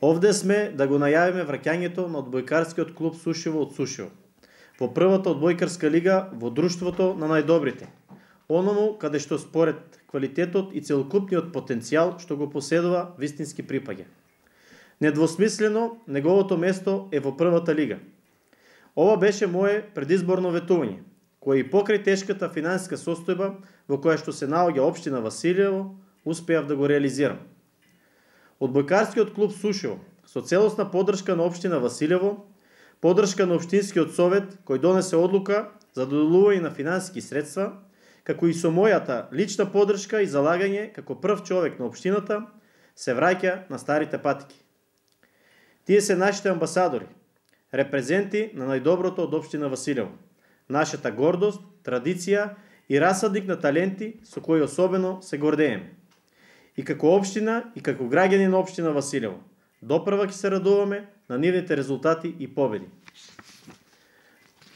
Овде сме да го најавиме враќањето на одбојкарскиот клуб Сушево од Сушево во првата одбојкарска лига во друштвото на најдобрите. Оному каде што според квалитетот и целокупниот потенцијал што го поседува вистински припаѓа. Недвосмислено неговото место е во првата лига. Ова беше мое предизборно ветување, кое и покрај тешката финансиска состојба во која што се наоѓа општина Василево, успеав да го реализирам. Одбојкарскиот клуб Сушево, со целосна поддршка на општина Василево, поддршка на општинскиот совет кој донесе одлука за доделување на финансиски средства, како и со мојата лична поддршка и залагање како прв човек на општината, се враќа на старите патики. Тие се нашите амбасадори, репрезенти на најдоброто од општина Василево, нашата гордост, традиција и расадник на таленти со кои особено се гордееме. И како општина, и како граѓани на општина Василево, допрва ќе се радуваме на нивните резултати и победи.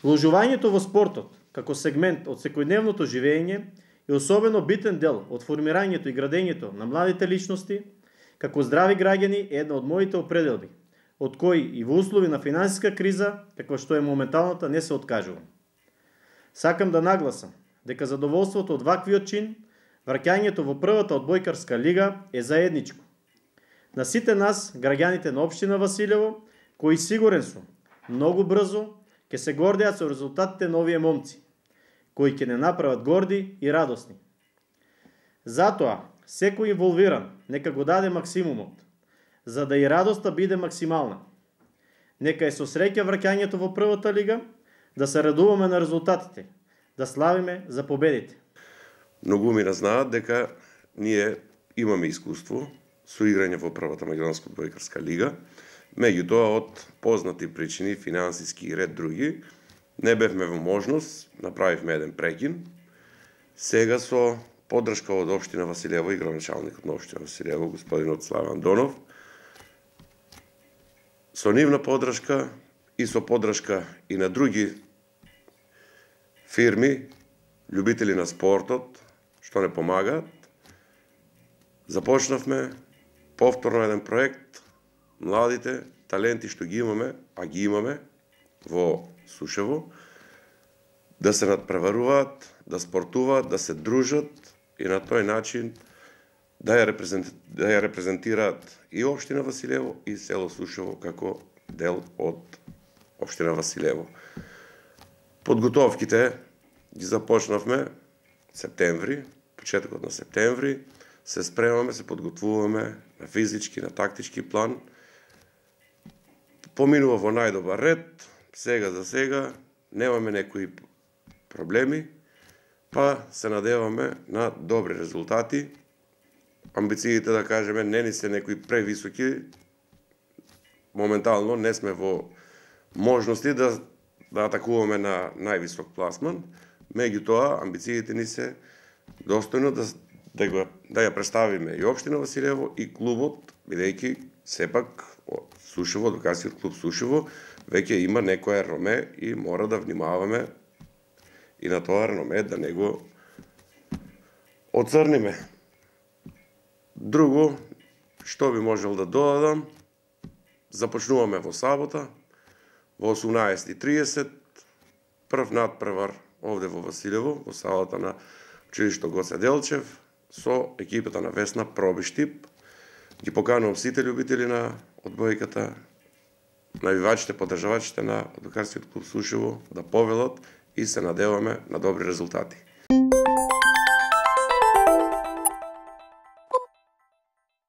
Вложувањето во спортот, како сегмент од секојдневното живење, е особено битен дел од формирањето и градењето на младите личности, како здрави граѓани е една од моите определби, од кои и во услови на финансиска криза, каква што е моменталната, не се откажувам. Сакам да нагласам дека задоволството од ваквиот чин, враќањето во првата одбојкарска лига е заедничко. На сите нас, граѓаните на општина Василево, кои сигурен сум, многу брзо ќе се гордеат со резултатите на овие момци, кои ќе не направат горди и радосни. Затоа, секој инволвиран нека го даде максимумот, за да и радоста биде максимална. Нека е со среќа враќањето во првата лига, да се радуваме на резултатите, да славиме за победите. Многумина знаат дека ние имаме искуство со играње во првата македонска одбојкарска лига, меѓутоа од познати причини, финансиски и ред други, не бевме во можност, направивме еден прекин. Сега со поддршка од општина Василево и градоначалникот на општина Василево, господинот Славан Донов, со нивна поддршка и со поддршка и на други фирми, љубители на спортот, што не помагаат, започнавме повторно еден проект, младите таленти што ги имаме, а ги имаме во Сушево, да се надпреваруваат, да спортуваат, да се дружат и на тој начин да ја репрезентираат и општина Василево и село Сушево како дел од општина Василево. Подготовките ги започнавме септември, почетокот на септември, се спремаме, се подготвуваме на физички, на тактички план. Поминува во најдобар ред, сега за сега немаме некои проблеми, па се надеваме на добри резултати. Амбициите, да кажеме, не ни се некои превисоки. Моментално не сме во можности да атакуваме на највисок пласман, меѓутоа амбициите ни се достојно да ја представиме и општина Василево и клубот, бидејќи сепак Сушево, одбојкарскиот клуб Сушево, веќе има некоја реноме и мора да внимаваме и на тоа реноме да не го оцрниме. Друго, што би можел да додадам, започнуваме во сабота, во 18:30, прв надпревар овде во Василево, во салата на училишто Гоце Делчев, со екипата на Весна Пробиштип. Ги поканувам сите љубители на одбојката, навивачите, поддржавачите на одбојкарскиот клуб Сушево да повелат и се надеваме на добри резултати.